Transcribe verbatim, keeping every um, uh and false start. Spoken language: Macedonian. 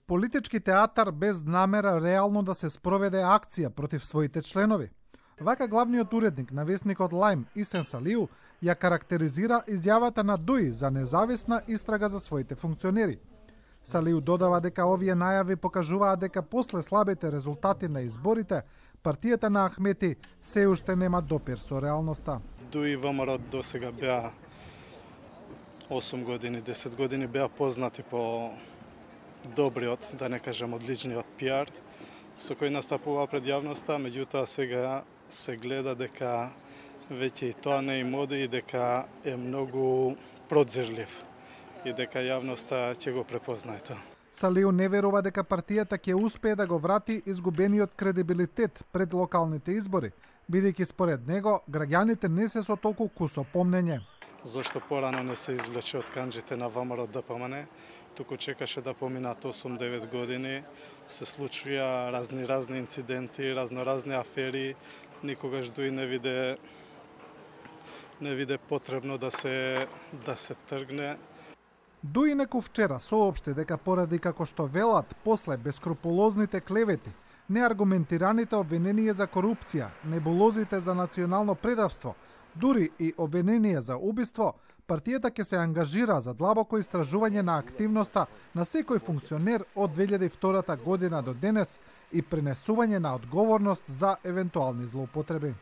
Политички театар без намера реално да се спроведе акција против своите членови. Вака главниот уредник на весникот Лајм, Исен Салиу, ја карактеризира изјавата на Дуи за независна истрага за своите функционери. Салиу додава дека овие најави покажуваат дека после слабите резултати на изборите, партијата на Ахмети се уште нема допир со реалноста. Дуи ВМРО до сега беа осум години, десет години беа познати по добриот, да не кажем одличниот пиар, со кој настапува пред јавноста, меѓутоа сега се гледа дека веќе и тоа не им оди и дека е многу продзирлив и дека јавноста ќе го препознае тоа. Салиу не верува дека партијата ќе успее да го врати изгубениот кредибилитет пред локалните избори, бидејќи според него граѓаните не се со толку кусо помнење. Зошто порано не се извлече од канџите на ВМРО Д П М Н, туку чекаше да поминат осум-девет години, се случија разни разни инциденти, разноразни афери, никогаш Дуи не виде не виде потребно да се да се тргне. Дуи неку вчера соопшти дека поради како што велат после бескрупулозните клевети, неаргументираните обвиненија за корупција, небулозите за национално предавство, дури и обвиненија за убиство, партијата ќе се ангажира за длабоко истражување на активноста на секој функционер од две илјади и втора година до денес и пренесување на одговорност за евентуални злоупотреби.